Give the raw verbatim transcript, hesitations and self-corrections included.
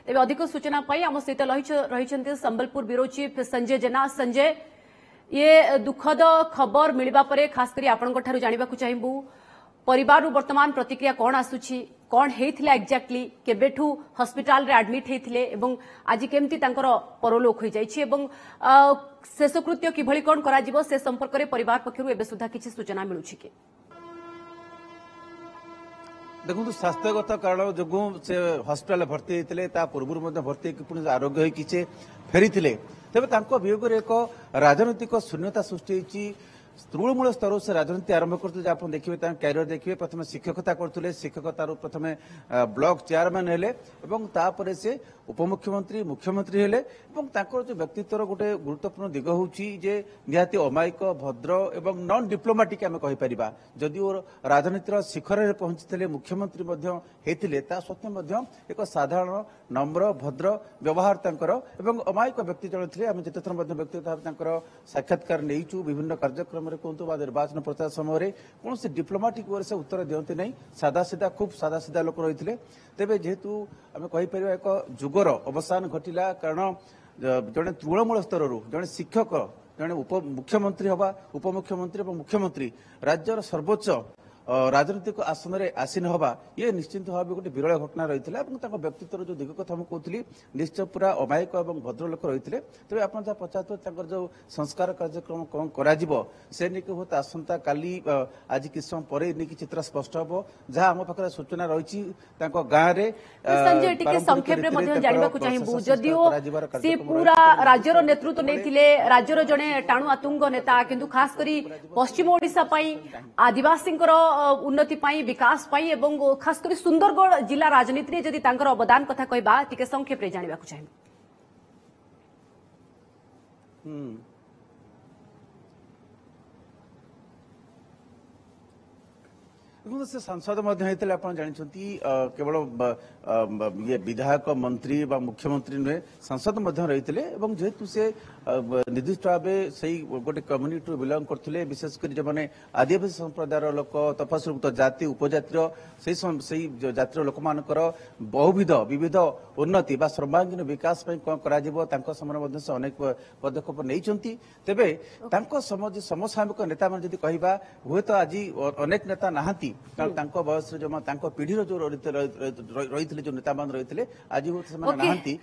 ତେବେ ଅଧିକ ସୂଚନା ପାଇଁ ଆମ ସହିତ ରହିଛନ୍ତି ସମ୍ବଲପୁର ବ୍ୟୁରୋ ଚିଫ୍ ସଞ୍ଜୟ ଜେନା। ସଞ୍ଜୟ, ଇଏ ଦୁଃଖଦ ଖବର ମିଳିବା ପରେ ଖାସ କରି ଆପଣଙ୍କ ଠାରୁ ଜାଣିବାକୁ ଚାହିଁବୁ, ପରିବାରରୁ ବର୍ତ୍ତମାନ ପ୍ରତିକ୍ରିୟା କ'ଣ ଆସୁଛି, କ'ଣ ହେଇଥିଲା ଏକ୍ଜାକ୍ଟଲି, କେବେଠୁ ହସ୍ପିଟାଲରେ ଆଡମିଟ୍ ହେଇଥିଲେ ଏବଂ ଆଜି କେମିତି ତାଙ୍କର ପରଲୋକ ହୋଇଯାଇଛି ଏବଂ ଶେଷକୃତ୍ୟ କିଭଳି କ'ଣ କରାଯିବ ସେ ସମ୍ପର୍କରେ ପରିବାର ପକ୍ଷରୁ ଏବେ ସୁଦ୍ଧା କିଛି ସୂଚନା ମିଳୁଛି କି? ଦେଖନ୍ତୁ, ସ୍ୱାସ୍ଥ୍ୟଗତ କାରଣ ଯୋଗୁଁ ସେ ହସ୍ପିଟାଲରେ ଭର୍ତ୍ତି ହେଇଥିଲେ। ତା ପୂର୍ବରୁ ମଧ୍ୟ ଭର୍ତ୍ତି ହେଇକି ପୁଣି ଆରୋଗ୍ୟ ହେଇକି ସେ ଫେରିଥିଲେ। ତେବେ ତାଙ୍କ ବିୟୋଗରେ ଏକ ରାଜନୈତିକ ଶୂନ୍ୟତା ସୃଷ୍ଟି ହେଇଛି। ତୃଣମୂଳ ସ୍ତରରୁ ସେ ରାଜନୀତି ଆରମ୍ଭ କରୁଥିଲେ। ଆପଣ ଦେଖିବେ, ତାଙ୍କ କ୍ୟାରିୟର ଦେଖିବେ, ପ୍ରଥମେ ଶିକ୍ଷକତା କରୁଥିଲେ, ଶିକ୍ଷକତାରୁ ପ୍ରଥମେ ବ୍ଲକ ଚେୟାରମ୍ୟାନ ହେଲେ ଏବଂ ତାପରେ ସେ ଉପମୁଖ୍ୟମନ୍ତ୍ରୀ, ମୁଖ୍ୟମନ୍ତ୍ରୀ ହେଲେ। ଏବଂ ତାଙ୍କର ଯେଉଁ ବ୍ୟକ୍ତିତ୍ୱର ଗୋଟେ ଗୁରୁତ୍ୱପୂର୍ଣ୍ଣ ଦିଗ ହେଉଛି ଯେ ନିହାତି ଅମାୟିକ, ଭଦ୍ର ଏବଂ ନନ୍ ଡିପ୍ଲୋମାଟିକ୍ ଆମେ କହିପାରିବା। ଯଦିଓ ରାଜନୀତିର ଶିଖରରେ ପହଞ୍ଚିଥିଲେ, ମୁଖ୍ୟମନ୍ତ୍ରୀ ମଧ୍ୟ ହେଇଥିଲେ, ତା ସତ୍ତ୍ୱେ ମଧ୍ୟ ଏକ ସାଧାରଣ, ନମ୍ର, ଭଦ୍ର ବ୍ୟବହାର ତାଙ୍କର ଏବଂ ଅମାୟିକ ବ୍ୟକ୍ତି ଜଣେ ଥିଲେ। ଆମେ ଯେତେଥର ମଧ୍ୟ ବ୍ୟକ୍ତିଗତ ଭାବେ ତାଙ୍କର ସାକ୍ଷାତକାର ନେଇଛୁ, ବିଭିନ୍ନ କାର୍ଯ୍ୟକ୍ରମରେ କୁହନ୍ତୁ ବା ନିର୍ବାଚନ ପ୍ରଚାର ସମୟରେ, କୌଣସି ଡିପ୍ଲୋମାଟିକ୍ ୱେରେ ସେ ଉତ୍ତର ଦିଅନ୍ତି ନାହିଁ। ସାଦା ସିଧା, ଖୁବ୍ ସାଦା ସିଧା ଲୋକ ରହିଥିଲେ। ତେବେ ଯେହେତୁ ଆମେ କହିପାରିବା ଏକ ଯୁଗର ଅବସାନ ଘଟିଲା, କାରଣ ଜଣେ ତୃଣମୂଳ ସ୍ତରରୁ ଜଣେ ଶିକ୍ଷକ ଜଣେ ଉପ ମୁଖ୍ୟମନ୍ତ୍ରୀ ହେବା, ଉପମୁଖ୍ୟମନ୍ତ୍ରୀ ଏବଂ ମୁଖ୍ୟମନ୍ତ୍ରୀ, ରାଜ୍ୟର ସର୍ବୋଚ୍ଚ ରାଜନୈତିକ ଆସନରେ ଆସୀନ ହେବା, ଇଏ ନିଶ୍ଚିତ ଭାବେ ଗୋଟେ ବିରଳ ଘଟଣା ରହିଥିଲା। ଏବଂ ତାଙ୍କ ବ୍ୟକ୍ତିତ୍ୱର ଯୋଉ ଦିଗ କଥା ମୁଁ କହୁଥିଲି, ନିଶ୍ଚୟ ପୁରା ଅମାୟିକ ଏବଂ ଭଦ୍ରଲୋକ ରହିଥିଲେ। ତେବେ ଆପଣ ଯାହା ପଚାରୁଥିଲେ, ତାଙ୍କର ଯୋଉ ସଂସ୍କାର କାର୍ଯ୍ୟକ୍ରମ କଣ କରାଯିବ ସେ ନେଇକି ହୁଏତ ଆସନ୍ତା କାଲି, ଆଜି କିଛି ସମୟ ପରେ ନେଇକି ଚିତ୍ର ସ୍ପଷ୍ଟ ହେବ। ଯାହା ଆମ ପାଖରେ ସୂଚନା ରହିଛି, ତାଙ୍କ ଗାଁରେ ସଞ୍ଜୟ, ଟିକେ ସଂକ୍ଷେପରେ ମଧ୍ୟ ଜାଣିବାକୁ ଚାହିଁବୁ, ଯଦିଓ ସେ ପୁରା ରାଜ୍ୟର ନେତୃତ୍ୱ ନେଇଥିଲେ, ରାଜ୍ୟର ଜଣେ ଟାଣୁଆ ତୁଙ୍ଗ ନେତା, କିନ୍ତୁ ଖାସ କରି ପଶ୍ଚିମ ଓଡ଼ିଶା ପାଇଁ, ଆଦିବାସୀଙ୍କର ଉନ୍ନତି ପାଇଁ, ବିକାଶ ପାଇଁ ଏବଂ ଖାସ କରି ସୁନ୍ଦରଗଡ଼ ଜିଲ୍ଲା ରାଜନୀତିରେ ଯଦି ତାଙ୍କର ଅବଦାନ କଥା କହିବା, ଟିକେ ସଂକ୍ଷେପରେ ଜାଣିବାକୁ ଚାହିଁବୁ। ଦେଖନ୍ତୁ, ସେ ସାଂସଦ ମଧ୍ୟ ହେଇଥିଲେ, ଆପଣ ଜାଣିଛନ୍ତି। କେବଳ ଇଏ ବିଧାୟକ, ମନ୍ତ୍ରୀ ବା ମୁଖ୍ୟମନ୍ତ୍ରୀ ନୁହେଁ, ସାଂସଦ ମଧ୍ୟ ରହିଥିଲେ। ଏବଂ ଯେହେତୁ ସେ ନିର୍ଦ୍ଦିଷ୍ଟ ଭାବେ ସେଇ ଗୋଟେ କମ୍ୟୁନିଟିରୁ ବିଲଙ୍ଗ କରୁଥିଲେ, ବିଶେଷ କରି ଯେଉଁମାନେ ଆଦିବାସୀ ସମ୍ପ୍ରଦାୟର ଲୋକ, ତଫସିଲଭୁକ୍ତ ଜାତି ଉପଜାତିର, ସେଇ ସେଇ ଜାତିର ଲୋକମାନଙ୍କର ବହୁବିଧ ବିବିଧ ଉନ୍ନତି ବା ସର୍ବାଙ୍ଗୀନ ବିକାଶ ପାଇଁ କଣ କରାଯିବ, ତାଙ୍କ ସମୟରେ ମଧ୍ୟ ସେ ଅନେକ ପଦକ୍ଷେପ ନେଇଛନ୍ତି। ତେବେ ତାଙ୍କ ସମାଜ ସମସାମୟିକ ନେତାମାନେ ଯଦି କହିବା, ହୁଏତ ଆଜି ଅନେକ ନେତା ନାହାନ୍ତି, କାରଣ ତାଙ୍କ ବୟସରେ ଯୋଉ ତାଙ୍କ ପିଢିର ଯୋଉ ରହିଥିଲେ, ଯୋଉ ନେତାମାନେ ରହିଥିଲେ, ଆଜି ହୁଏତ ସେମାନେ ନାହାନ୍ତି।